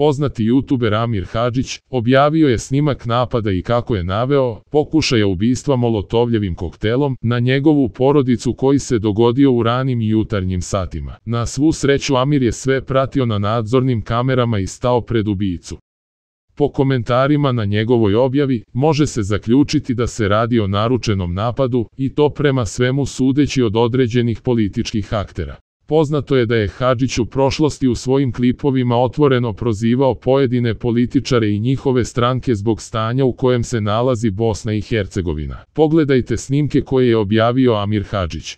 Poznati youtuber Amir Hadžić objavio je snimak napada i kako je naveo pokušaja ubistva molotovljevim koktelom na njegovu porodicu koji se dogodio u ranim jutarnjim satima. Na svu sreću Amir je sve pratio na nadzornim kamerama i stao pred ubijicu. Po komentarima na njegovoj objavi može se zaključiti da se radi o naručenom napadu i to prema svemu sudeći od određenih političkih aktera. Poznato je da je Hadžić u prošlosti u svojim klipovima otvoreno prozivao pojedine političare i njihove stranke zbog stanja u kojem se nalazi Bosna i Hercegovina. Pogledajte snimke koje je objavio Amir Hadžić.